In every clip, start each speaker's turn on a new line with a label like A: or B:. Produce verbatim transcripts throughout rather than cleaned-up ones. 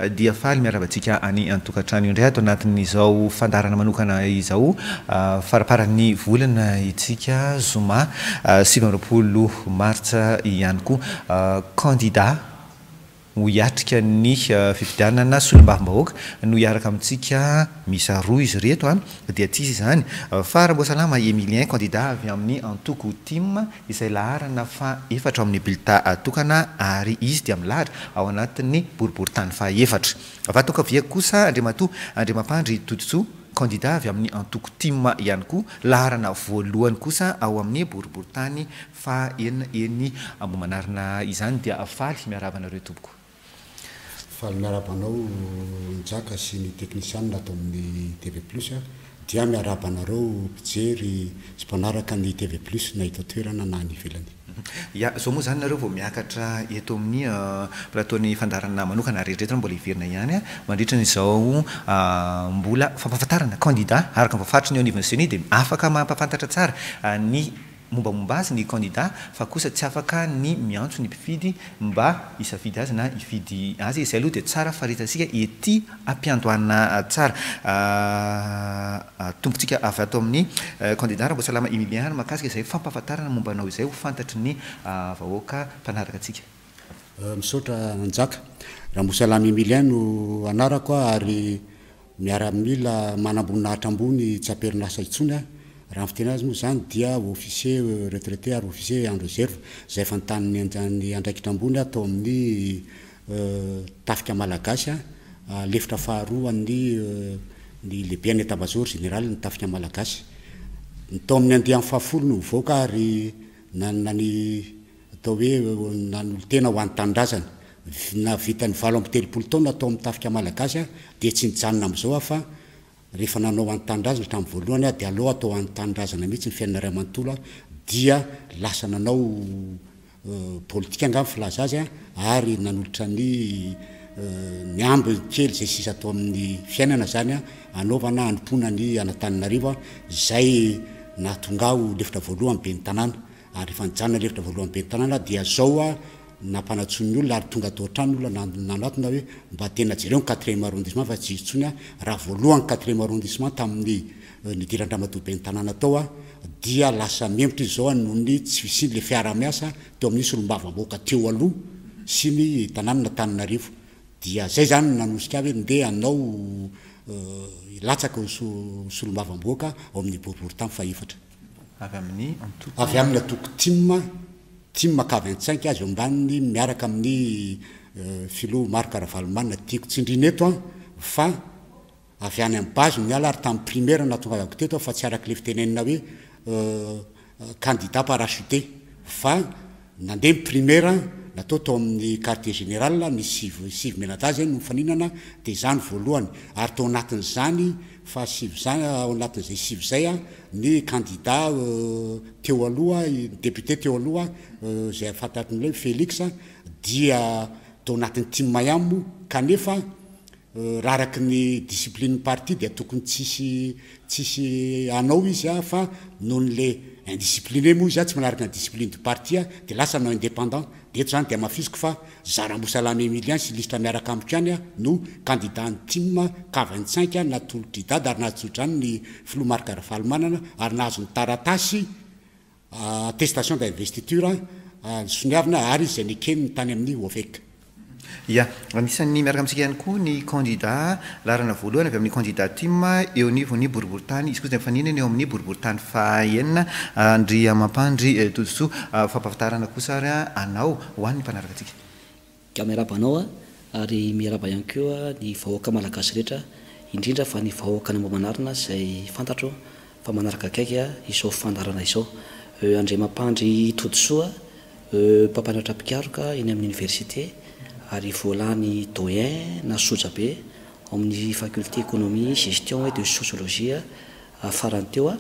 A: Dia faly miarahaba antsika any an-tokantrano indray ato anatin'izao fandaharana manokana izao. Faramparan'ny volana itsika, zoma sivy amby roapolo martsa ihany koa. Candidat ho hiatrika ny fifidianana solombavambahoaka no hiaraka amintsika, misy roa izy reto a dia tsy izy izany fa Ramboasalama Emilien, candidat avy amin'ny antoko TIM, izay laharana fa efatra ao amin'ny bulletin tokana, ary izy dia milahatra ao anatin'ny boriborintany fa efatra. Vatokavia kosa Andriamatoa Andriamampandry Toditsoa, candidat avy amin'ny antoko TIM ihany koa, laharana voalohany kosa ao amin'ny boriborintany fa enina eny Ambohimanarina izany. Dia faly miarahaba anareo tompoko.
B: Faly miarahaba anao Njaka sy ny teknisianina atao amin'ny T V Plus a dia miarahaba anareo mpijery sy mpanaraka ny T V Plus na eto toerana na any ivelany.
A: Ya, zao moa zany nareo vao miakatra eto amin'ny plateau-ny fandaharana manokana rehetrarehetra, mbola hiverina ihany a mandritra n'izao mbola fampahafantarana candidat araka ny voafaritry ny eo anivon'ny CENI, dia afaka mampahafantatra tsara ny mombamomba azy ny candidat, fa kosa tsy afaka ny miantso ny mpifidy mba hisafidy azy na hifidy azy. Izay aloha dia tsara faritantsika ety ampiandohana tsara. Tompontsika avy ato amin'ny candidat Ramboasalama Emilien, mahakasika izay fampahafantarana momba anao izay ho fantatry ny vahoaka mpanaraka antsika.
B: Misaotra Njaka. Ramboasalama Emilien no anarako a ary miaramila manamboninahitra ambony tsy am-perinasa intsony a raha ny fiteny azy moa zany dia officier retraité ary officier en réserve, zay efa nitana ny andraikitra ambony atao amin'ny tafika malagasy a lefitra faharoa ny ny lehibe any état-major général ny tafika malagasy. Ny tao amin'ny andiany fahafolo no mivoaka ary nanana ny atao hoe nanolo-tena ho an'ny tanindrazana, na vita ny valo amby telopolo taona atao amin'ny tafika malagasy a dia tsy nijanona am'izao a fa rehefa nanao an'ny tanindrazana hatramin'ny voalohany a dia aloha atao an'ny tanindrazana mihitsy ny fiainana ray amanontolo a dia lasa nanao politika anga ny filaza azy a ary nanolotra ny ny amby kely zay sisa atao amin'ny fiainana zany a anaovana anompona ny anatananarivo a zay nahatonga ho lefitra voalohany be ny tanàna. Ary rehefa nijanona lefitra voalohany be ny tanàna dia zao a nampanantsony olona ary tonga atao an-trano olona nanatona hoe mba tena jereo ny quatrième arrondissement fa tsy izy intsony a raha voalohany quatrième arrondissement tamin'ny nidiran-dramatoa be ny tanàna tao a dia lasa membotra izy zao a noho ny tsy fisiany le fiara-miasa teo amin'ny solombavambahoaka teo aloha sy ny tanàna Tananarivo. Dia zay zany nanosika hoe ndeha anao latsaka solombavambahoaka ao amin'ny boriborintany faefatra.
A: Avy amin'ny antoko?
B: Avy amin'ny antoko TIM, TIM K vingt-cinq azy eo ambaniny miaraka amin'ny filoha Marc Ravalomanana. Tiako tsindrina eto a fa avy any amin'ny base miala ary tamin'ny primaire nahatonga avako teto fa tsy araky le fitenenina hoe candidat parachuté, fa nandeha ny primaire natao tao amin'ny quartier général, misy sivy sivy mianadahy zay no mifaninana, de zany voalohany. Ary tao anatin'zany fa sivy zany, ao anatin'izay sivy zay a ny candidat teo aloha, député teo aloha zay fantatry hoe Félix, dia tao anatin'ny TIM ihany moa. Kanefa raha araky ny discipline parti dia tokony tsisy tsisy anao izy a fa noho n'le indiscipliné moa izy a tsy manaraka ny discipline du parti a de lasa anao indépendant. De eto zany de amafisiko fa Ramboasalama Emilien sy lisitra miaraka amiko ihany a no candidat ny TIM K vingt-cinq natolotry dada ary nahatsodrany ny filoha Marc Ravalomanana ary nahazo ny taratasy attestation d'investiture soniavina ary izy zay nekeniny tany amin'ny O V E C.
A: Ya, anisan'ny miaraka amintsika ihany koa ny candidat laharana voalohany avy amin'ny candidat TIM eo anivon'ny boriborintany, izy koa zay mifaninana eo amin'ny boriborintany fahenina, Andriamampandry Todisoa. Fampahafantarana kosa ary anao ho an'ny mpanaraka antsika.
C: Ka miarahaba anao a ary miarahaba ihany koa ny vahoaka malagasy rehetra, indrindra fa ny vahoaka ny Ambohimanarina zay fantatro fa manaraka akaiky a izao fandaharana izao. Andriamampandry Todisoa, mpampianatra mpikaroka eny amin'ny université ary voalany doyen na sojabe ao amin'ny faculté économie, gestion et de sociologie farany teo a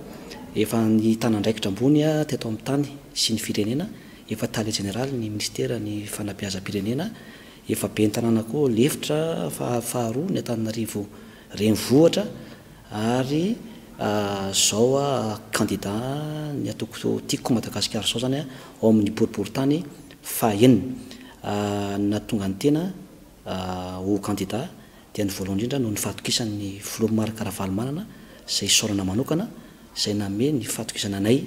C: efa nitana andraikitra ambony a teto amin'ny tany sy ny firenena, efa tale général ny ministera ny fanabeazam-pirenena, efa be ny tanàna koa lefitra fa faharoa ny Antananarivo renivohitra, ary zao a candidat ny antoko Tiako Madagasikara zao zany a ao amin'ny boriborintany fahenina. Nahatonga ny tena ho candidat dia ny voalohany indrindra noho ny fahatokisan'ny filoha Marc Ravalomanana, izay isaorana manokana, izay nanome ny fahatokisana anay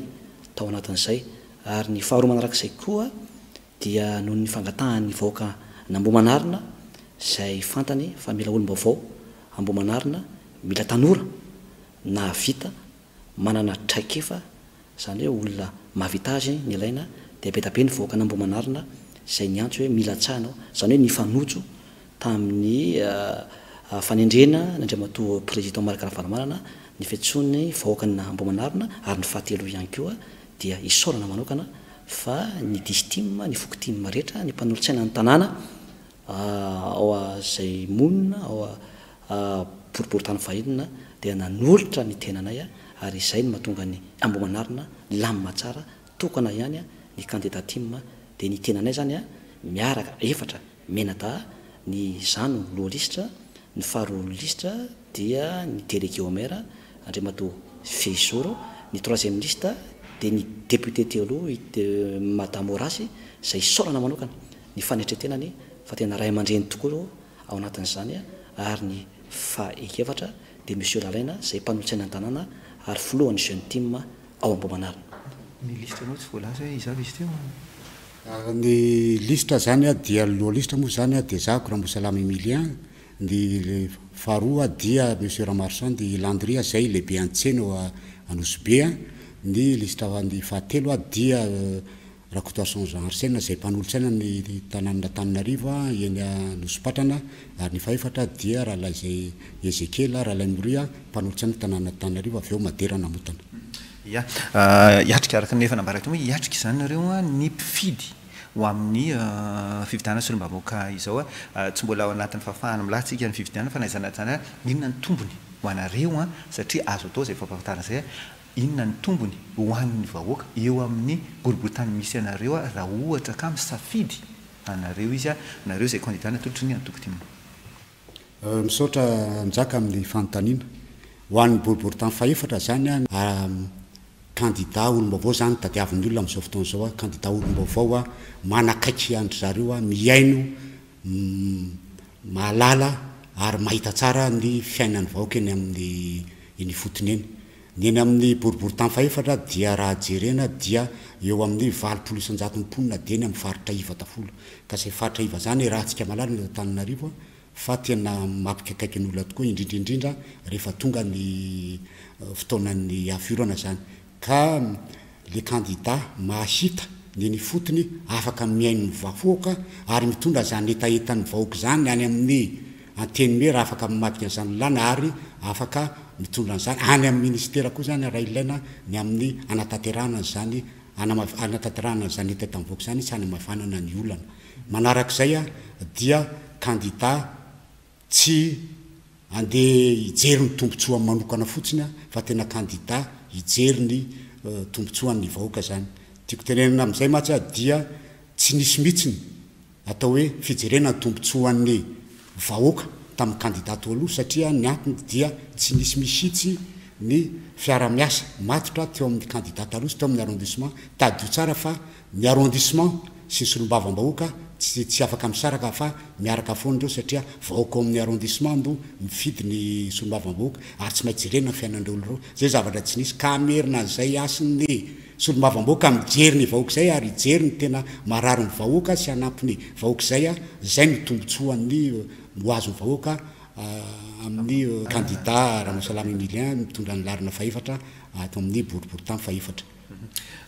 C: tao anatin'izay. Ary ny faharoa manarak'izay koa dia noho ny fangatahan'ny vahoaka an'Ambohimanarina, izay fantany fa mila olom-baovao Ambohimanarina, mila tanora nahavita, manana traikefa, izany hoe olona mahavita azy ny ilaina, dia be dia be ny vahoaka an'Ambohimanarina izay niantso hoe mila tsara anao, izany hoe nifanojo tamin'ny fanendrena an'Andriamatoa Président Marc Ravalomanana ny fiantsoan'ny vahoaka an'Ambohimanarina. Ary ny fahatelo ihany koa dia isaorana manokana fa ny distim, ny foko TIM rehetra, ny mpanolotsaina ny tanàna ao izay monina ao boriborintany fahenina dia nanolotra ny tenanay, ary izay no mahatonga ny Ambohimanarina lamina tsara, tokana ihany ny candidat TIM, dia ny tenanay zany miaraka efatra menada, ny zano loha lisitra, ny faharoa lisitra dia ny délégué au maire Andriamatoa Fehizoro, ny troisième liste dia ny député teo aloha Madame Horace, izay isaorana manokana ny fanetretenany fa tena ray aman-dreny tokoa ao anatin'izany, ary ny fahaefatra dia Monsieur Lalaina izay mpanolotsaina ny tanàna ary filohan'ny jeune TIM ao Ambohimanarina.
A: Ny lisitra anao tsy voalaza hoe iza avy izy teo?
B: Ny lisitra zany a dia loha lisitra moa zany a dia zahako Rambosalama Emilien, ny faharoa dia Monsieur Ramarson de Landria zay lehibe an-tsena ao Anosibe, ny lisitra ny fahatelo a dia Rakotoarison Jean Arsène zay mpanolotsaina ny tanàna Antananarivo eny Anosipatrana, ary ny fahefatra dia Rahalahy zay Ezekiel Rahalahy Moria mpanolotsaina tanàna Antananarivo avy eo Madera Namotana.
A: Ya, hiatrika araka ny efa nambara teo hoe hiatrika izany nareo ny mpifidy ho amin'ny fifidianana solombavambahoaka izao. Tsy mbola ao anatin'ny fahafahana milatsika ny fifidianana, fa na izany na izany inona ny tombony ho anareo, satria azo atao izay fampahafantarana izay, inona ny tombony ho an'ny vahoaka eo amin'ny boriborintany misy anareo raha ohatra ka misafidy anareo izy, nareo izay candidat natolotry ny antoko TIM?
B: Misaotra Njaka amin'ny fanontaniana. Ho an'ny boriborintany fahefatra zany a candidat olom-baovao zany tadiavin'ny olona amin'izao fotoana izao, candidat olom-baovao a manakaiky an-dry zareo, mihaino, mahalala ary mahita tsara ny fiainan'ny vahoaka eny amin'ny eny ifotony eny. Ny eny amin'ny boriborintany fahefatra dia raha jerena dia eo amin'ny valopolo isan-jaton'ny mponina dia eny amin'ny faritra iva daholo. Ka izay faritra iva zany raha antsika mahalala ny eto Antananarivo fa tena mampikaikaiky ny olona tokoa, indrindra indrindra rehefa tonga ny fotoanan'ny afiorana zany. Ka le candidat mahita ny eny ifotony, afaka mihaino ny vahoaka ary mitondra zany hetahetan'ny vahoaka zany any amin'ny antenimiera, afaka mamadika an'izany lalàna ary afaka mitondra an'izany any amin'ny ministera koa zany raha ilaina ny amin'ny anatanterahana an'izany, anatanterahana an'izany hetahetan'ny vahoaka zany sy hanamavanana ny olana. Manarak'izay a dia candidat tsy andeha hijery ny tombontsoa manokana fotsiny fa tena candidat hijery ny tombontsoan'ny vahoaka zany. Tiako tenenina amin'izay mantsy a dia tsy nisy mihitsy atao hoe fijerena ny tombontsoan'ny vahoaka tamin'ny candidat teo aloha, satria ny antony dia tsy nisy mihitsy ny fiara-miasa matotra teo amin'ny candidat taloha sy teo amin'ny arrondissement. Tadidio tsara fa ny arrondissement sy ny solombavambahoaka tsy tsy afaka misaraka fa miaraka foana ireo, satria vahoaka ao amin'ny arrondissement no mifidy ny solombavambahoaka ary tsy maintsy jerena ny fiainan'ireo olona ireo. Zay zavatra tsy nisy ka hamerina an'izay hasin'ny solombavambahoaka mijery ny vahoaka izay ary hijery ny tena marary ny vahoaka sy hanampy ny vahoaka izay, izay no tombontsoan'ny ho azon'ny vahoaka amin'ny candidat Rambosalama Emilien mitondra ny laharana fahefatra ato amin'ny boriborintany fahefatra.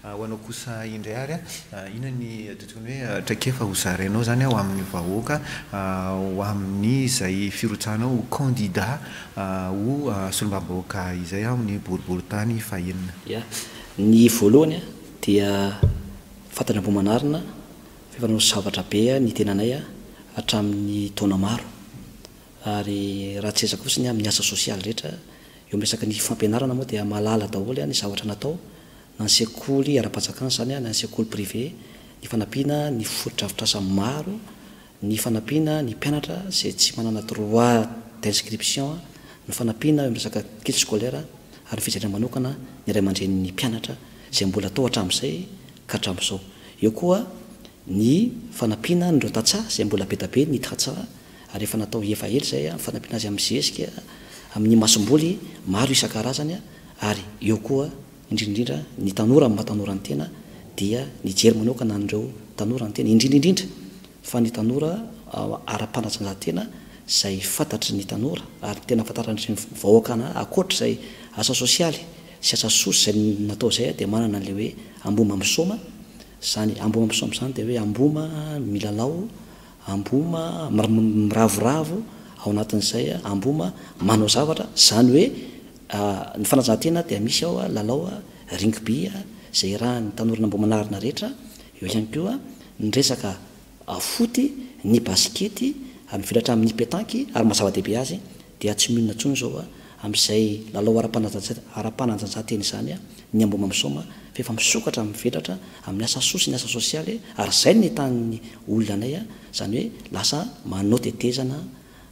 A: Ho anao kosa indray ary, inona ny tokony hoe traikefa ho zarainao zany ho amin'ny vahoaka ho amin'ny izay firotsahanao ho candidat ho solombavambahoaka izay amin'ny boriborintany fahenina?
C: Ya, ny voalohany dia fantatra Ambohimanarina fa efa nanao zavatra be ny tenanay hatramin'ny taona maro, ary raha tsy ezaka fotsiny amin'ny asa sosialy rehetra eo amin'ny resaka ny fampianarana moa dia mahalala daholo ny zavatra natao, na ny sekoly ara-panjakana zany na ny sekoly privé, ny fanampiana ny fotodrafitrasa maro, ny fanampiana ny mpianatra izay tsy manana droit d'inscription, ny fanampiana eo amin'ny resaka kit scolaire, ary ny fijerena manokana ny ray aman-drenin'ny mpianatra izay mbola atao hatramin'izay ka hatramin'izao. Eo koa ny fanampiana an'ireo tantsaha izay mbola be dia be ny tantsaha ary efa natao efa ela izay ny fanampiana azy amin'ny zezika, amin'ny masomboly maro isan-karazany, ary eo koa indrindra indrindra ny tanora amin'ny maha tanora ny tena dia nijery manokana an'ireo tanora ny tena, indrindra indrindra fa ny tanora ara-panatanjahantena izay fantatry ny tanora ary tena fantatry ny vahoaka ankoatra izay asa sosialy sy asa soa izay natao izay dia manana an'ilay hoe Amboma Misaoma. Izany Amboma Misaoma izany dia hoe Amboma milalao, Amboma miravoravo ao anatin'izay, Amboma manao zavatra. Izany hoe ny fanatanjahantena dia misy ao lalao rugby izay iarahan'ny tanora Ambohimanarina rehetra, eo ihany koa ny resaka foot, ny basikety, ary mivelatra amin'ny petanky, ary maha zava-dehibe azy dia tsy mionona intsony izao amin'izay lalao ara-panatanjahantena izany ny Amboma Misaoma, fa efa misokatra mivelatra amin'ny asa soa sy ny asa sosialy, ary izay no nitahan'ny olona anay, izany hoe lasa manao tetezana,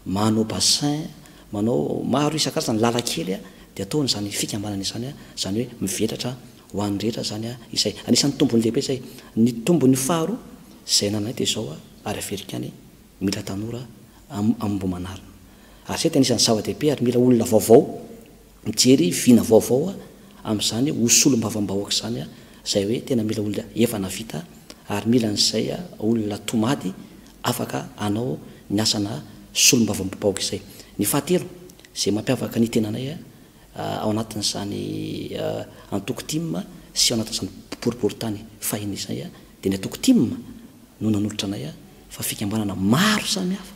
C: manao bassin, manao maro isan-karazany, lalan-kely dia ataony izany fikambanana izany, izany hoe mivelatra ho an'ny rehetra izany izay. Anisan'ny tombony lehibe izay. Ny tombony faharoa izay anananay dia izao, ary averiko ihany, mila tanora Ambohimanarina. Ary izay dia anisan'ny zava-dehibe, ary mila olona vaovao mijery vina vaovao amin'izany ho solombavambahoaka izany, izay hoe tena mila olona efa navita, ary mila an'izay olona tomady afaka hanao ny asana solombavambahoaka izay. Ny fahatelo izay mampiavaka ny tenanay ao anatin'izany antoko T I M sy ao anatin'izany boriborintany fahiny izay, dia ny antoko T I M no nanolotra anay, fa fikambanana maro samihafa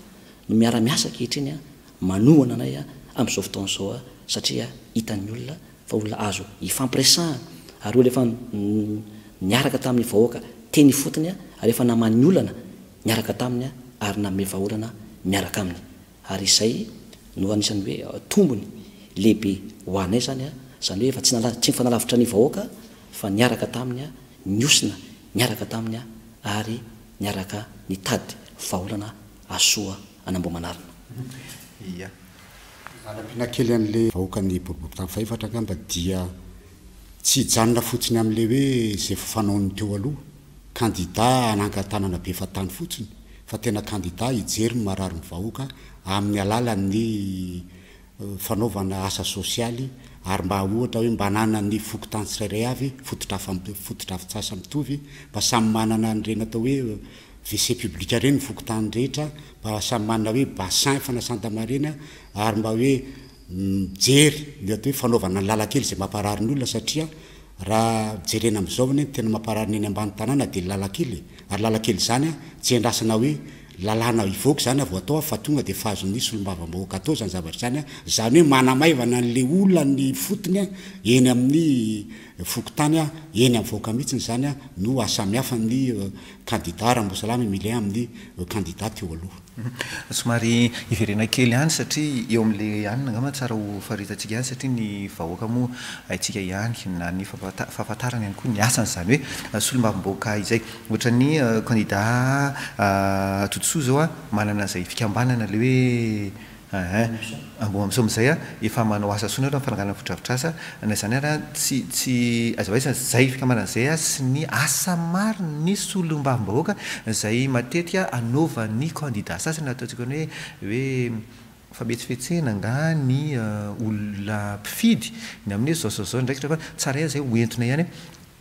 C: no miara-miasa ankehitriny manohana anay amin'izao fotoana izao, satria hitan'ny olona fa olona azo ifampiresahana, ary olona efa niaraka tamin'ny vahoaka teny ifotony, ary efa naman'ny olana niaraka taminy, ary nanome vahaolana miaraka aminy. Ary izay no anisan'ny hoe tombony lehibe ho anay zany, izany hoe efa tsy nala tsy nifanalavitra ny vahoaka fa niaraka taminy, niosina niaraka taminy, ary niaraka nitady vahaolana asoa an'Ambohimanarina.
A: Ia.
B: Fanampiana kely an'le vahoaka ny boriborintany fahefatra angamba dia tsy hijanona fotsiny amin'le hoe zay fanaon'ny teo aloha, kandida anangan-tanana be fatany fotsiny, fa tena kandida hijery ny marary ny vahoaka amin'ny alalan'ny fanaovana asa sosialy, ary mba ohatra hoe mba hananany fokontany tsirairay avy fotodrafitrasa mitovy, mba samy manana an'ireny atao hoe W C public reny ny fokontany rehetra, mba samy manana hoe bassin fanasan-damba reny, ary mba hoe mijery ny atao hoe fanaovana ny lalan-kely izay mamparary ny olona, satria raha jerena amin'izao anie tena mamparary ny eny ambany tanàna dia lalan-kely, ary lalan-kely zany a tsy andrasana hoe lalàna hivoaka zany vao atao, fa tonga dia fahazon'ny solombavambahoaka atao zany zavatra zany. A zany hoe manamaivana an'le olona ny fotony a eny amin'ny fokontany a eny amin'ny vahoaka mihitsiny zany a no asamihafa ny kandida Rambosalama Emilien amin'ny kandida teo aloha.
A: Somary iverena kely ihany, satria eo amin'le anina angamba tsara ho faritantsika ihany, satria ny vahoaka moa haintsika ihany na ny fahafantarana ihany koa ny asany zany hoe solombavambahoaka izay. Ohatra ny kandida Todisoa zao a manana zay fikambanana le hoe Amboma Misaoma zay a efa manao asa soa nareo amin'ny fananganana fotodrafitrasa na zany ara tsy tsy azavaisa zay fikambanana zay a sy ny asa maro ny solombavambahoaka zay matetika anaovan'ny kandida sasany ataontsika ny hoe hoe fametsifetsena nga ny olona mpifidy ny amin'ny hoe zao zao zao ndraikitra, fa tsara ihany zay hoentina ihany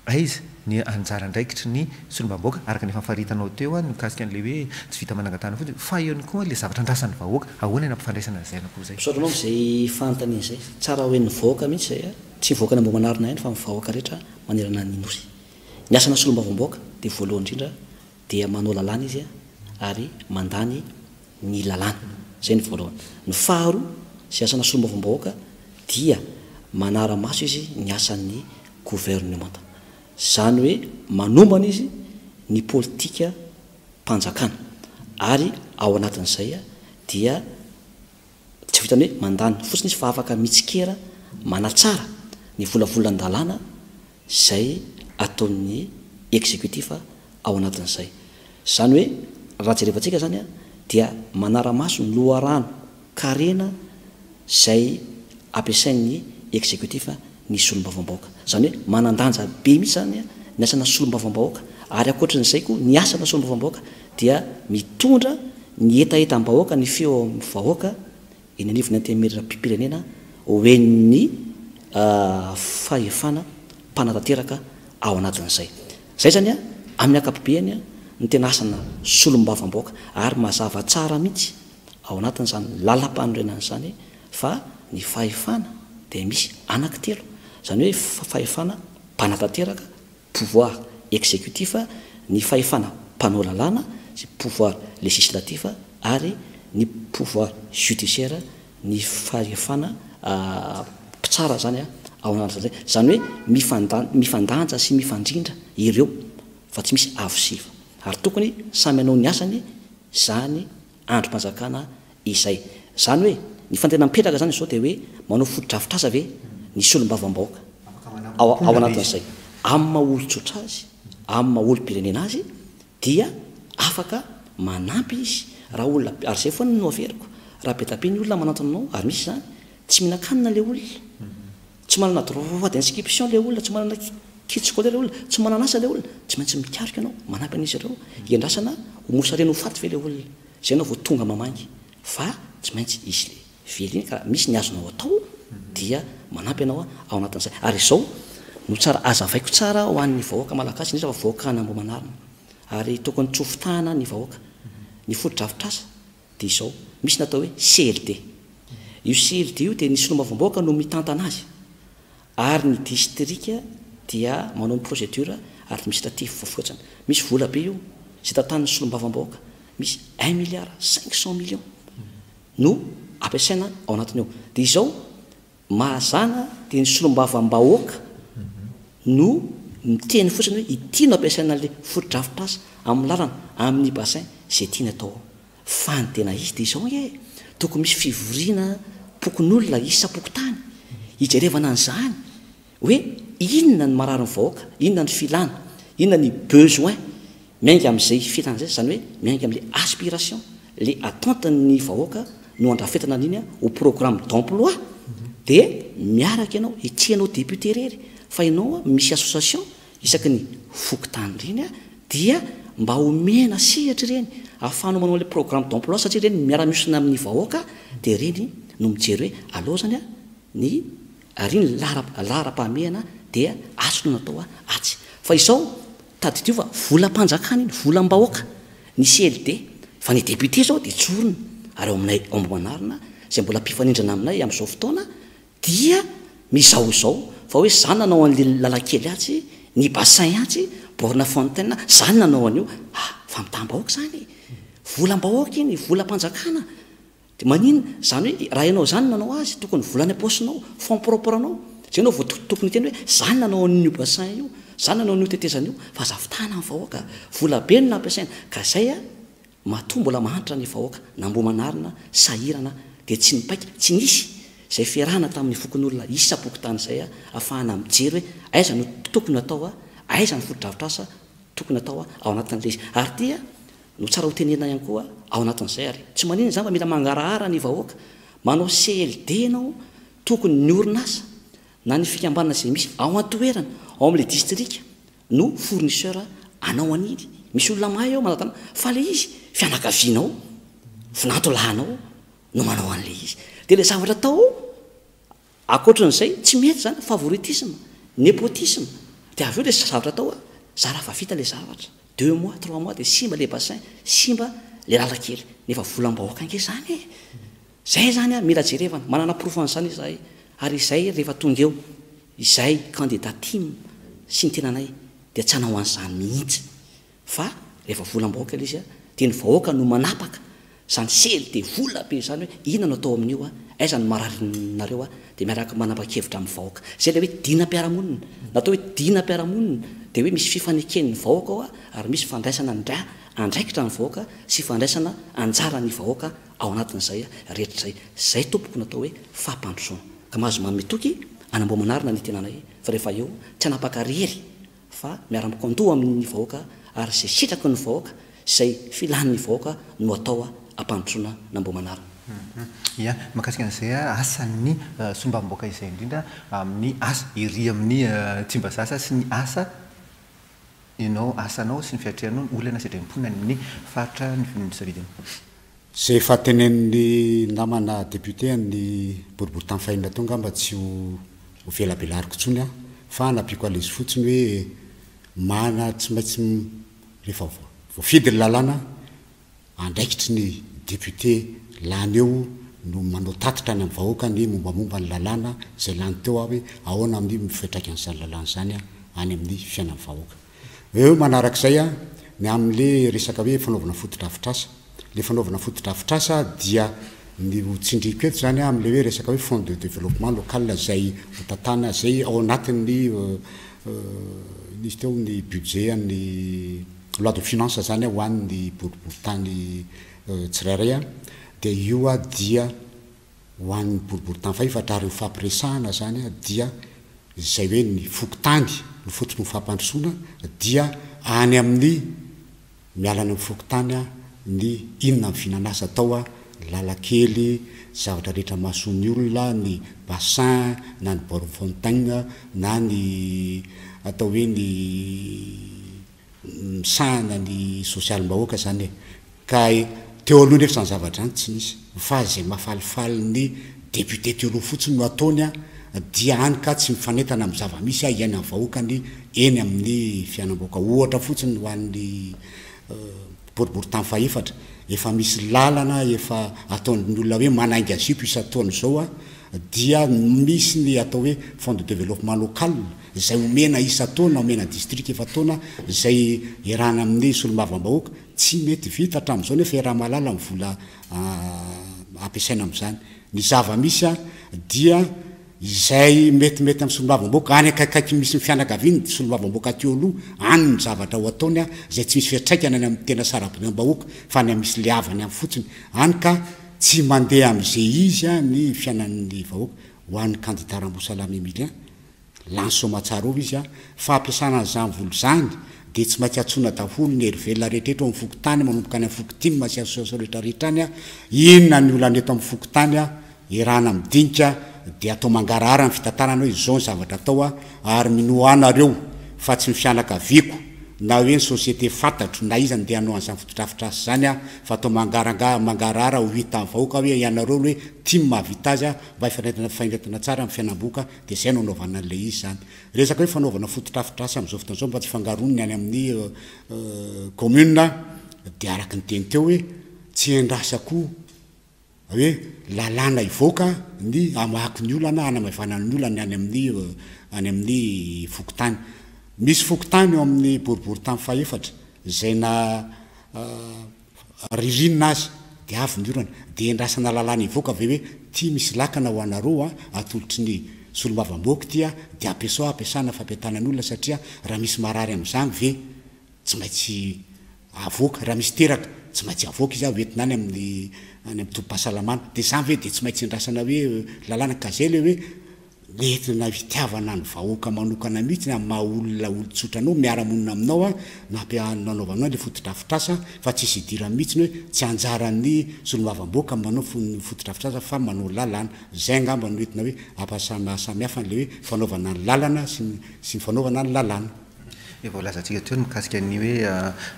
A: aiza ny anjara andraikitry ny solombavambahoaka araka ny efa nifaritanao teo a mikasika an'le hoe tsy vita manangan-tanana fotsiny, fa eo ihany koa le zavatra andrasan'ny vahoaka, ahoana ny ampifandraisana an'izay anakoa zay?
C: Misaotra anao am'izay fanontaniana izay. Tsara hoe ny vahoaka mihitsy zay a tsy mivoaka ny Ambohimanarina ihany fa mivahoaka rehetra manerana ny nosy. Ny asana solombavambahoaka dia voalohany indrindra dia manao lalàna izy a ary mandany ny lalàna zay ny voalohany. Ny faharoa zay asana solombavambahoaka dia manara-maso izy ny asan'ny gouvernementa, zany hoe manombana izy ny politika mpanjakana, ary ao anatin'izay a dia tsy vitany hoe mandany fotsiny izy fa afaka mitsikera, manatsara ny volavolan-dalàna zay ataon'ny exécutif ao anatin'izay. Zany hoe raha jerevantsika zany a dia manara-maso ny loharano karena zay ampiasain'ny exécutif ny solombavambahoaka. Zany hoe manan-danja be mihitsy zany a ny asana solombavambahoaka. Ary ankoatran'izay koa, ny asana solombavambahoaka dia mitondra ny hetahetam-bahoaka, ny feo amin'ny vahoaka eny anivon'ny antenimieram-pirenena ho en'ny fahefana mpanatanteraka ao anatin'izay. Zay zany a amin'ny ankapobeany a ny tena asana solombavambahoaka, ary mazava tsara mihitsy ao anatin'izany lalam-panorenana izany fa ny fahefana dia misy anankitelo, zany hoe fahefana mpanatanteraka, pouvoir exécutif, ny fahefana mpanao lalàna sy pouvoir législatif, ary ny pouvoir judiciaire, ny fahefana mpitsara zany a ao anatin'izay. Zany hoe mifanda- mifandanja sy mifandrindra ireo fa tsy misy avo siva, ary tokony samy hanao ny asany zany androm-panjakana izay. Zany hoe ny fantena mipetraka zany izao dia hoe manao fotodrafitrasa ve ny solombavambahoaka ao ao anatin'izay amin'ny maha olon-tsotra azy, amin'ny maha olom-pirenena azy, dia afaka manampy izy raha olona. Ary zay foana no averiko, raha be dia be ny olona manantona anao, ary misy zany tsy mihinan-kanina le olona, tsy manana droit d'inscription le olona, tsy manana kit scolaire le olona, tsy manana asa le olona, tsy maintsy mikaroka ianao manampy an'izy ireo. Iandrasana ho mosarena ho faty ve le olona zay anao vao tonga mamangy? Fa tsy maintsy izy le vely iny ka misy ny azonao atao dia manampy ianao ao anatin'izay. Ary izao no tsara azavaiko tsara ho an'ny vahoaka malagasy, indrindra fa vahoaka an'Ambohimanarina, ary tokony tsofotahana ny vahoaka. Ny fotodrafitrasa dia izao, misy natao hoe C L D. Io C L D io dia ny solombavambahoaka no mitantana azy, ary ny distrika dia manao ny procédure administrative voafotsiny. Misy vola be io zay tantanin'ny solombavambahoaka, misy un milliard cinq cent millions no ampiasaina ao anatiny eo. Dia izao mahazana, dia ny solombavambahoaka no miteny fotsiny hoe ity no ampiasaina le fotodrafitrasa amin'ny lalana, amin'ny bassin, zay tiany atao. Fa ny tena izy dia izao nge, tokony misy fivoriana pokon'olona isam-pokotany hijerevana an'izany hoe inona ny marary ny vahoaka, inona ny filana, inona ny besoin. Miainga amin'izay filana zay, zany hoe miainga am'le aspiration, le attente ny vahoaka no andrafetana an'iny a ho programme d'emploi. De miaraka ianao, tsy ianao député rery fa ianao a misy association isaky ny fokotany reny a dia mba omena sehatra reny ahafahanao manao le programme d'emploi, satria reny miara-miosina amin'ny vahoaka. De reny no mijery hoe aloha zany a ny ary ny lara laharam-pahamehana dia atsy no natao a atsy. Fa izao tadidio fa volam-panjakana iny, volam-bahoaka ny C L D, fa ny député zao de tsorona. Ary eo aminay Ambohimanarina zay mbola mpifanindrana aminay am'izao fotoana dia mizao izao fa hoe zany nanao an'le lalakely atsy, ny bassin atsy, borne fontaine, zany nanao an'io. Ah, famitam-bahoaka zany, volam-bahoaka iny, volam-panjakana. De maninona zany hoe raha ianao zany nanao azy, tokony volany am-paosinao, fonds propre anao zay anao vao tokony teny hoe zany nanao an'io bassin io, zany nanao an'io tetezana io. Fa zavitana ny vahoaka, vola be no nampiasaina. Ka zay a matoa mbola mahantra ny vahoaka n'Ambohimanarina, sahirana, de tsy nipaika, tsy nisy zay fiarahana tamin'ny fokon'olona isam-pokotany zay a ahafahana mijery hoe aiza no tokony atao a aiza ny fotodrafitrasa tokony atao a ao anatin'le izy. Ary tya no tsara ho tenena ihany koa ao anatin'izay, ary tsy maninona zany fa mila mangarahara ny vahoaka. Manao C L D anao, tokony ny orinasa na ny fikambanana zay misy ao antoerana ao am'le distrika no fournisseur anao an'iny. Misy olona mahay ao manatana, fa le izy fianakavianao, vinantolahinao no manao an'le izy, de le zavatra atao akoatran'izay tsy mety zany, favoritisme, népotisme. De avy eo le zavatra atao a za raha fa vita le zavatra, deux mois, trois mois, de simba le bassin, simba le lalakely, nefa volam-bahoaka ange zany e. Zay zany a mila jerevana, manana preuve an'izany izahay. Ary izay rehefa tonga eo izay candidat T I M sy ny tenanay dia tsy hanao an'izany mihitsy, fa rehefa volam-bahoaka le izy a dia ny vahoaka no manapaka zany sely de vola be zany hoe inona no atao amin'io a aiza no mararinareo a de miaraka manapa-kevitra amin'ny vahoaka. Zay le hoe dinam-piarahamonina natao hoe dinam-piarahamonina, de hoe misy fifaneken'ny vahoaka ao a ary misy fandraisana ndra andraikitra ny vahoaka sy fandraisana anjara ny vahoaka ao anatin'izay a rehetra zay. Zay tompoko natao hoe fampandrosoana. Ka mahazo mamitoky an'Ambohimanarina ny tenanay fa rehefa eo tsy anapaka rery fa miara-mikondoha amin'ny vahoaka, ary zay sitraky ny vahoaka, zay filan'ny vahoaka no atao a ampandrosoana n'Ambohimanarina.
A: Ia, mahakasika an'izay a asan'ny solombavambahoaka izay, indrindra amin'ny asa ery amin'ny Tsimbazaza sy ny asa ianao, asanao sy ny fiatrehanao ny olana sedrain'ny mponina any amin'ny faritra ny savidiny.
B: Zay efa tenenin'ny namana député ny boriboritany fahenina teo angamba tsy ho ho velabelariko intsony a, fa nampiako an'izy fotsiny hoe mana tsy maintsy rehefa voafidy ny lalàna, andraikitry ny député lany eo no manao tatitra any amin'ny vahoaka ny mombamomba ny lalàna zay lany teo aho, hoe ahoana amin'ny fiantraikan'izany lalàna zany a any amin'ny fiainan'ny vahoaka. Eo manarak'izay a, ny amin'le resaka hoe fanaovana fotodrafitrasa, le fanaovana fotodrafitrasa dia ny ho tsindriko eto zany a am'le hoe resaka hoe fonds de développement local zay hotatana zay ao anatin'ny nisy teo ny budget ny loi de finance zany a ho an'ny boriboritany tsirairay a, de io a dia ho an'ny boriboritany fahefatra. Ary ho fampiresahana zany a dia zay hoe ny fokontany ny fotony ho fampandrosoana dia any amin'ny mialany amin'ny fokontany a ny inona ny vinanasa atao a, lalakely, zavatra rehetra mahasony olona, ny bassin na ny borne fontaine na ny atao hoe ny misahana ny sosialim-bahoaka zany e. Ka teo aloha nefa zany zavatra any tsy nisy, fa zay mahafalifaly ny député teo aloha fotsiny no ataony a, dia any ka tsy mifanentana amin'ny zava-misy a iainan'ny vahoakany eny amin'ny fiainam-bahoaka. Ohatra fotsiny ho an'ny boriboritany fahefatra, efa misy lalana efa ataon'ny olona hoe manainga zipo isan-taona zao a, dia misy ny atao hoe fonds de développement local zay omena isan-taona, omena district efa-taona, zay iarahana amin'ny solombavambahoaka, tsy mety vita hatramin'izao nefa iaraha mahalala ny vola ampiasaina amin'izany. Ny zava-misy a dia izay metimety amin'ny solombavambahoaka any akaikaiky misy ny fianakaviany solombavambahoaka teo aloha any ny zavatra ho ataony a, zay tsy misy fiantraikany any amin'ny tena sarababem-bahoaka fa any misy le havany amin'ny fotsiny any, ka tsy mandeha am'izay izy a ny fiainan'ny vahoaka. Ho an'ny candidat Rambosalama Emilien, lany soamatsara eo izy a, fa ampiasana an'izany vola zany de tsy maintsy antsoina daholo ny herivelona rehetrarehetra ao amin'ny fokontany, manomboka any amin'ny fokontany sy association rehetrarehetra any a, inona ny olana eto amin'ny fokontany a, iarahana midinika, de atao mangarahara ny fitantanana hoe izao ny zavatra atao a. Ary minoa anareo fa tsy ny fianakaviako na hoe ny société fantatro na iza ndeha hanao an'izany fotodrafitrasa zany a, fa atao mangaranga mangarahara ho hitan'ny vahoaka hoe ianareo hoe tia mahavita azy a mba hifanentana fainetana tsara amin'ny fiainam-bohoka, de zay no anaovana an'le izy zany. Resaka hoe fanaovana fotodrafitrasa am'izao fotoana zao mba tsy fangaroniny any amin'ny commune, de araky ny teny teo hoe tsy endrasako hoe lalàna ivoaka ny amahako ny olana anamaivanany olana any amin'ny any amin'ny fokontany. Misy fokontany eo amin'ny boriboritany fahefatra zay na ririnina azy de avy ny orana, de endrasana lalàna ivoaka ave hoe ty misy lakana ho anareo a atolotry ny solombavambahoaka ty a, de ampiasao ampiasana fampiatanany olona, satria raha misy marary am'izany ve tsy maintsy avoaka, raha misy teraka tsy maintsy avoaka izy a hoentina any amin'ny any amin'ny tobim-pahasalamana, de zany ve de tsy maintsy endrasana hoe lalàna? Ka zay le hoe nentina fitiavana ny vahoaka manokana mihitsy ny amin'ny maha olona olon-tsotra anao miara-monina aminao a nampia nanaovanao le fotodrafitrasa, fa tsisy idirany mihitsy ny hoe tsy anjaran'ny solombavambahoaka manao fotodrafitrasa fa manao lalàna. Zay angamba no entina hoe ampasamy hafa an'le hoe fanaovana ny lalana sy ny sy ny fanaovana ny lalàna.
A: Efa voalazantsika teo ny mikasika ny hoe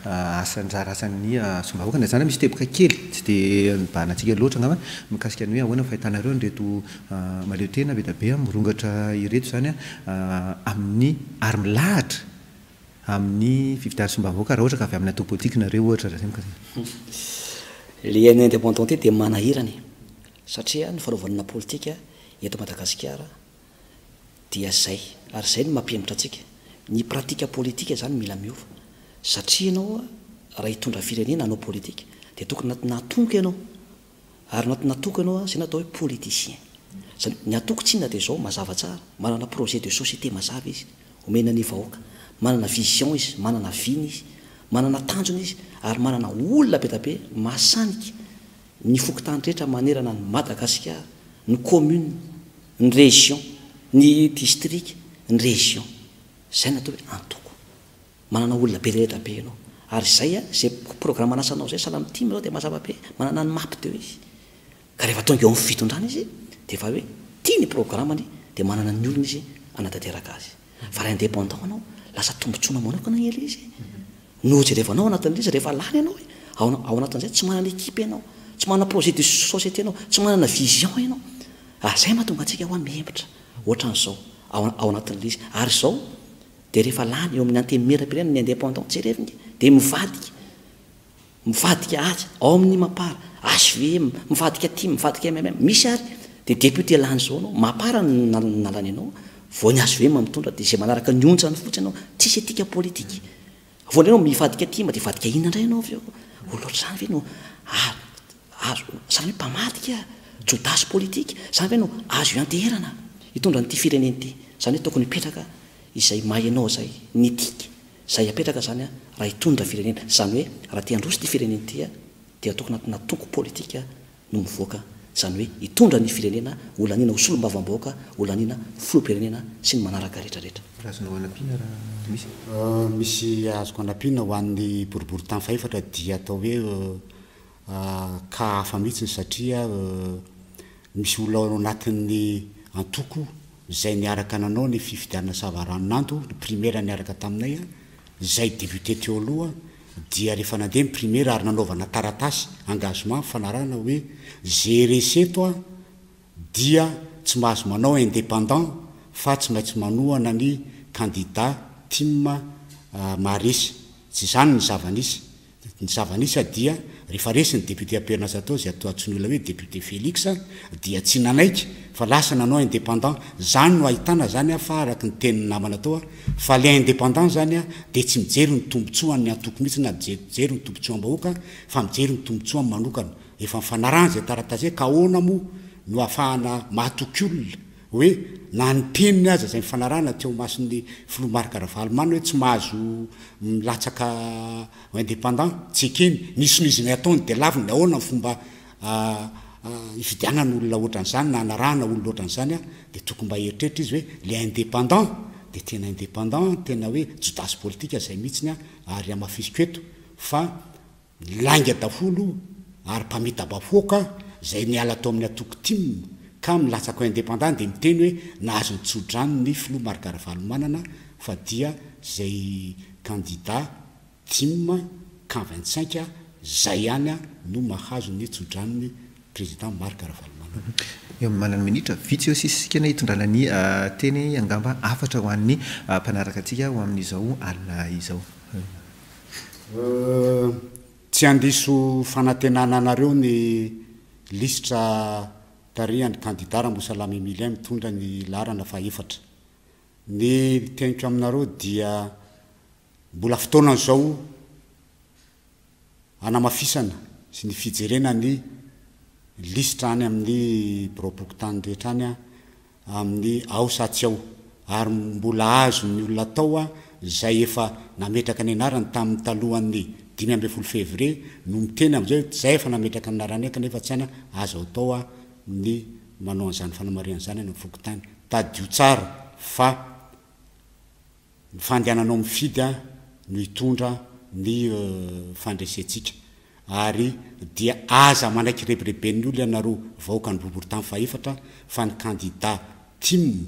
A: asa anjara asan'ny solombavahoaka na zany misy teboka kely tsy de nibahanantsika loatra angamba mikasika ny hoe ahoana ny fahitanareo nreto mahaleo tena be da be mirongatra ireto zany a amin'ny ary milahatra amin'ny fifidianana solombavahoaka raha ohatra ka avy amin'ny antoko politika nareo ohatra raha zay mikasika.
C: Le ny indépendant de manahirany satria ny fanaovanana politika eto Madagasikara dia zay, ary zay no mampihemotra antsika. Ny pratique politika zany mila miova, satria ianao raha hitondra firenena anao politika de tokony natonoko ianao, ary natonatoko ianao zay natao hoe politicien zany. Ny atoko tsinona de zao, mazava tsara, manana projet de société mazava izy omena ny vahoaka, manana vision izy, manana vina izy, manana tanjona izy, ary manana olona be da be mahasanika ny fokontany rehetra manerana ny Madagasikara, ny commune, ny région, ny district, ny région. Zay natao hoe antoko manana olona be rehetra be ianao, ary zay a zay programme anasanao zay sahala am'TIM zao de mazava be, manana ny mapy teo izy. Ka rehefa tonga eo amin'ny fitondrana izy de efa hoe tia ny programmany, de manana ny olona izy anatanteraka azy. Fa raha indépendant anao, lasa tombontsoana manokana ela izy no jerevanao anatin'le izy. Rehefa lany ianao ao ao anatin'izay, tsy manana équipe ianao, tsy Tsy manana projet de société ianao, tsy manana vision ianao. Ary izay mahatonga antsika hoa mihemotra ohatran'izao ao ao anatin'ilay izy. Ary izao dia rehefa lany eo amin'ny antenimierampirenena ny indépendant, jereo nge, dia mivadika, mivadika atsy, ao amin'ny Mapar, H V M, mivadika tim, mivadika M M M, misy ary dia député lany izao anao, Mapar no nalany anao, vao ny H V M mitondra dia izay manaraka ny onjany fotsiny anao, tsisy éthique politique. Vao indray anao mivadika tim dia hivadika inona indray ianao avy eo? Olona ohatr'izany ve no azo, izany hoe mpamadika, jodasy politique, izany ve no azo ianteherana hitondra an'ity firenena ity? Izany hoe tokony hipetraka izay maha ianao izay, ny éthique izay apetraka izany raha hitondra firenena. Izany hoe raha te handroso ity firenena ity dia tokony anatina toko politika no mivoaka, izany hoe hitondra ny firenena ho laniana ho solombavambahoaka, ho laniana filoham-pirenena sy ny manaraka rehetra rehetra.
A: Azonao anampiana raha misy?
B: Misy azoko anampiana ho an'ny boriborintany fahefatra dia atao hoe cas hafa mihitsy satria misy olona ao anatin'ny antoko izay niaraka nanao ny fifidianana savaranonando, ny primaire niaraka taminay, izay député teo aloha, dia rehefa nandeha ny primaire ary nanaovana taratasy engagement fanarahana hoe zay resy eto a dia tsy mahazo manao indépendant fa tsy maintsy manohana ny candidat T I M maharesy. Tsy izany ny zava-nisy. Ny zava-nisy dia rehefa resy ny député am-perinasa tao, zay atao antsoin'ny olona hoe député Félix, dia tsy nanaiky fa lasa nanao indépendant. Zany no ahitana zany a fa araky ny tenin'ny namana tao a fa le indépendant zany a de tsy mijery ny tombontsoan'ny antoko mihitsy na mijery ny tombontsoam-bahoaka fa mijery ny tombontsoany manokana. Efa mifanarahana zay taratasy zay ka ahoana moa no ahafahana mahatoky olona hoe na ny teniny aza zay mifanarahana teo mason'ny filoha Marc Ravalomanana hoe tsy mahazo milatsaka indépendant, tsy ekeny, nisy noho izy ny ataony de laviny, ahoana ny fomba ifidianana olona ohatran'izany na anarahana olona ohatran'izany? A de tokony mba eritreritra izy hoe le indépendant de tena indépendant, tena hoe jodasy politika zay mihitsiny a ary amafisiko eto fa lainga daholo ary mpamita-bahoaka zay niala atao amin'ny atoko T I M ka milatsaka indépendant de miteny hoe nahazo ny tsodrano ny filoha Marc Ravalomanana, fa dia zay candidat T I M camp vingt-cinq zay ihany a no mahazo ny tsodranony président Marc Ravalomanana.
A: Eo manana minitra vitsy eo sisisika na hitondrana ny teny angamba afatra ho an'ny mpanaraka antsika ho amin'izao alina izao.
B: Tsy andiso fanantenana anareo ny lisitra tarihan'ny candidat Rambosalama Emilien mitondra ny laharana faefatra. Ny teniko aminareo dia mbola fotoana zao anamafisana sy ny fijerena ny lisitra any amin'ny birao-pokontany rehetra any a amin'ny ao sa tsy ao, ary mbola azo ny olona atao a zay efa nametraka ny anarany tamin'ny talohan'ny dimy amby folo février no miteny am'izay zay efa nametraka ny anarany kanefa tsy any, azo atao a ny manao an'izany fanamariana zany any amin'ny fokontany. Tadio tsara fa ny fandehananao mifidy a no hitondra ny fandresentsika, ary dia aza manaiky rebireben'ny olo ianareo vahoaka ny boriborintany fahefatra fa ny candidat T I M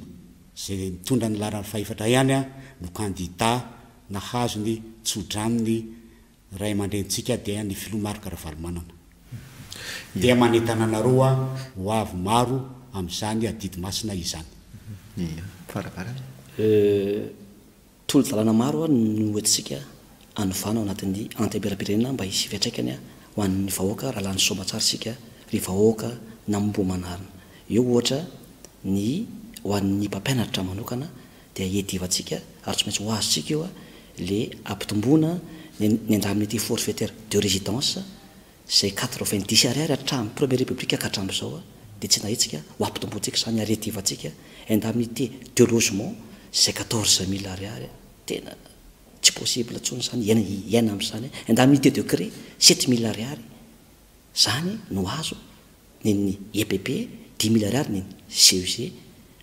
B: zay mitondra ny laharana fahefatra ihany a no candidat nahazo ny tsodranony ray aman-drenitsika, dia ny filoha Marc Ravalomanana. Dia manentana anareo a ho avy maro amin'izany adidy masina izany.
A: Faraparany.
C: Tolo-dalàna maro a no entintsika anovana ao anatin'ny antenimieram-pirenena mba hisy fiantraikany a ho an'ny vahoaka raha lany soamantsara isika, ry vahoaka n'Ambohimanarina. Eo ohatra ny ho an'ny mpampianatra manokana dia iadivantsika ary tsy maintsy ho azontsika io a le ampitomboana ny indemnité forfaitaire de résidence zay quatre-vingt-dix ariary hatramin'ny première république ka hatramin'izao a de tsy nahetsika, ho ampitomboantsika zany ary iadivantsika. Indemnité de logement zay quatorze mille ariary, tena tsy possible intsony zany iaina iaina am'izany. Indemnité de CREI sept mille ariary zany no azo neny E P P, dix mille ariary neny C E G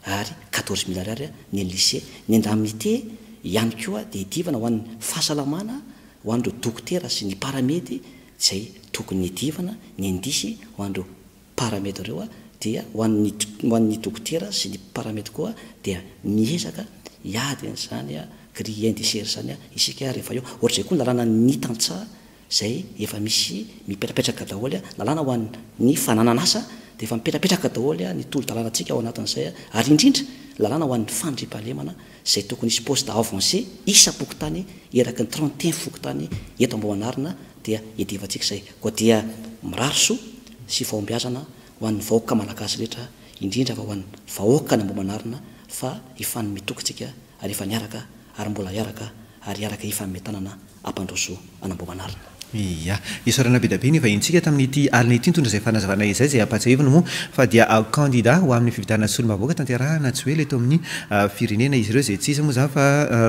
C: ary quatorze mille ariary neny lycée. Ny indemnité ihany koa de idivana ho an'ny fahasalamana, ho an'ireo dokotera sy ny paramed zay tokony idivana ny indice ho an'ireo paramed reo a dia ho an'ny ho an'ny dokotera sy ny paramed koa dia miezaka hiady an'izany a grille indiciaire zany a isika rehefa eo. Ohatr'izay koa ny lalàna ny tantsaha. zay efa misy mipetrapetraka daholo a, lalàna ho an'ny fananan'asa dia efa mipetrapetraka daholo a ny tolo-dalànantsika ao anatin'izay a, ary indrindra lalàna ho an'ny fandriampahalemana zay tokony hisy poste avancé isam-pokontany eraky ny trente et un fokontany eto Ambohimanarina dia iadivantsika izay. Koa dia mirary soa sy fahombiazana ho an'ny vahoaka malagasy rehetra, indrindra fa ho an'ny vahoaka ny Ambohimanarina, fa hifanome toky tsika ary efa niaraka ary mbola hiaraka ary hiaraka hifanome tanana hampandroso an'Ambohimanarina.
A: Ia, isaorana be dia be ny vahintsika tamin'ity alina ity nitondra izay fanazavana izay, izay ampahatsiahivina moa fa dia kandida ho amin'ny fifidianana solombavambahoaka tanterahana tsy ho ela eto amin'ny firenena izy ireo, izay tsy iza moa izany fa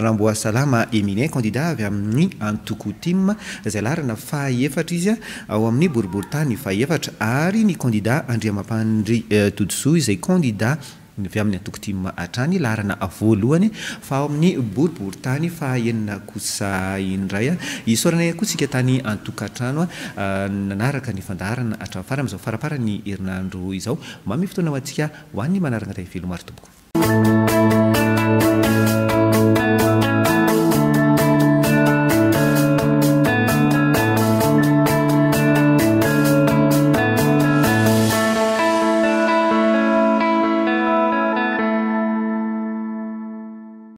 A: Ramboasalama Emilien, kandida avy amin'ny antoko T I M izay laharana fahaefatra izy ao amin'ny boriborintany fahaefatra, ary ny kandida Andriamampandry Todisoa izay kandida avy amin'ny antoko T I M hatrany, laharana voalohany fa ao amin'ny boriborintany fahaenina kosa indray. Isaorana ihany koa tsika tany an-tokantrano nanaraka ny fandaharana hatramin'ny farany amin'izao faramparan'ny herinandro izao. Mamy fotoana ho antsika ho an'ny manaraka. Veloma ry tompoko.